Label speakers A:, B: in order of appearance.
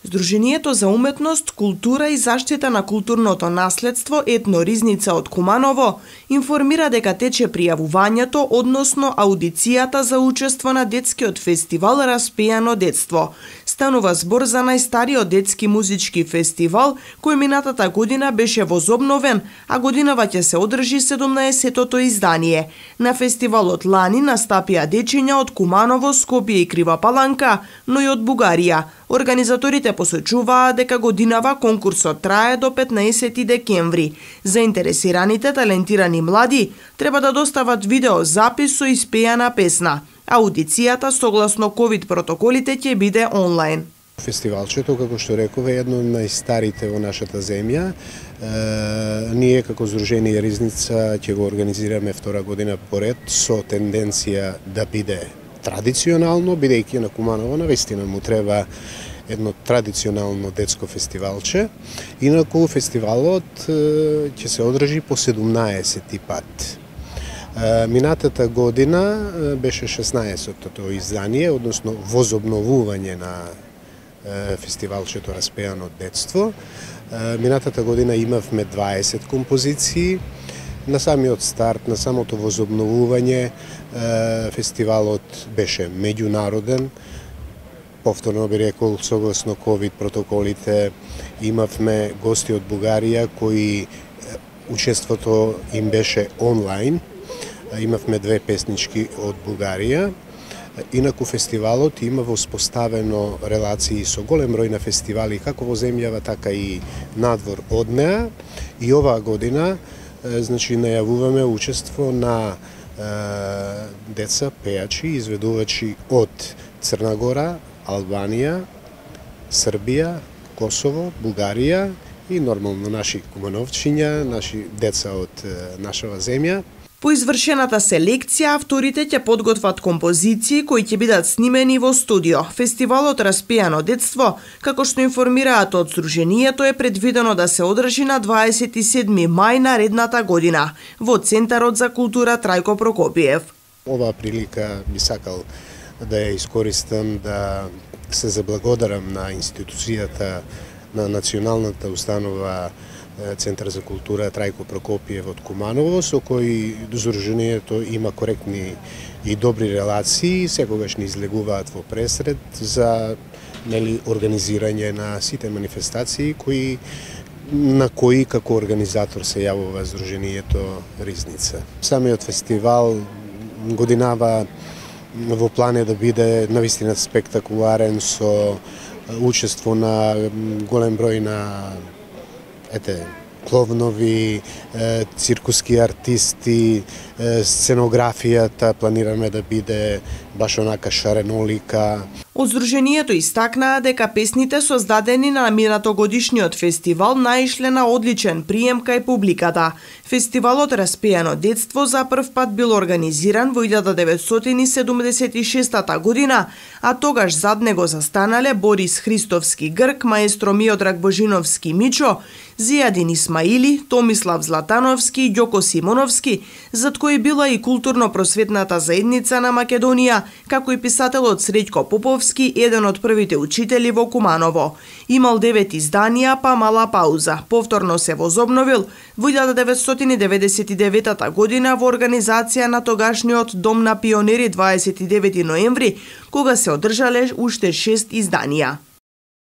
A: Здруженијето за уметност, култура и заштита на културното наследство Етно Ризница од Куманово информира дека тече пријавувањето, односно аудицијата за учество на детскиот фестивал Распејано детство. Станува збор за најстариот детски музички фестивал, кој минатата година беше возобновен, а годинава ќе се одржи 17-тото издание. На фестивалот лани настапија дечиња од Куманово, Скопје и Крива Паланка, но и од Бугарија. Организаторите посочуваа дека годинава конкурсот трае до 15 декември. Заинтересираните талентирани млади треба да достават видеозапис со испејана песна. Аудицијата согласно ковид протоколите ќе биде онлайн.
B: Фестивалчето, како што реков, е едно од најстарите во нашата земја. Ние како Здружение Ризница ќе го организираме втора година поред со тенденција да биде традиционално, бидејќи на Куманово навистина му треба едно традиционално детско фестивалче. Инаку фестивалот ќе се одржи по 17-ти пат. Минатата година беше 16-тото издание, односно возобновување на фестивалчето Распејано детство. Минатата година имавме 20 композиции. На самиот старт, на самото возобновување, фестивалот беше меѓународен. Повторно би рекол, согласно ковид протоколите, имавме гости од Бугарија кои учеството им беше онлайн. Имавме 2 песнички од Бугарија. Инаку фестивалот има воспоставено релации со голем број на фестивали како во земјава, така и надвор од неа. И оваа година најавуваме учество на деца пејачи, изведувачи од Црна Гора, Албанија, Србија, Косово, Бугарија и нормално наши кумановчиња, наши деца од нашава земја.
A: По извршената селекција, авторите ќе подготват композиции кои ќе бидат снимени во студио. Фестивалот Распејано детство, како што информираат од Здруженијето, е предвидено да се одржи на 27 мај наредната година во Центарот за култура Трајко Прокопиев.
B: Оваа прилика би сакал да ја искористам да се заблагодарам на институцијата на националната установа Центар за култура Трајко Прокопиев од Куманово, со кој Здруженијето има коректни и добри релации, секогаш ни излегуваат во пресред за организирање на сите манифестации на кои како организатор се јавува Здруженијето Ризница. Самиот фестивал годинава во план е да биде навистина спектакуларен со учество на голем број на кловнови, циркуски артисти, сценографијата планираме да биде баш онака шаренолика.
A: Од Здруженијето истакнаа дека песните создадени на минатогодишниот фестивал наишле на одличен прием кај публиката. Фестивалот Распејано детство за прв пат бил организиран во 1976 година, а тогаш зад него застанале Борис Христовски Грк, маестро Миодраг Божиновски Мичо, Зијадин Исмаили, Томислав Златановски и Ѓоко Симоновски, зад кои била и културно-просветната заедница на Македонија, како и писателот Среќко Поповски, еден од првите учители во Куманово. Имал 9 изданија, па мала пауза. Повторно се возобновил во 1999 година во организација на тогашниот Дом на пионери 29 ноември, кога се одржале уште 6 изданија.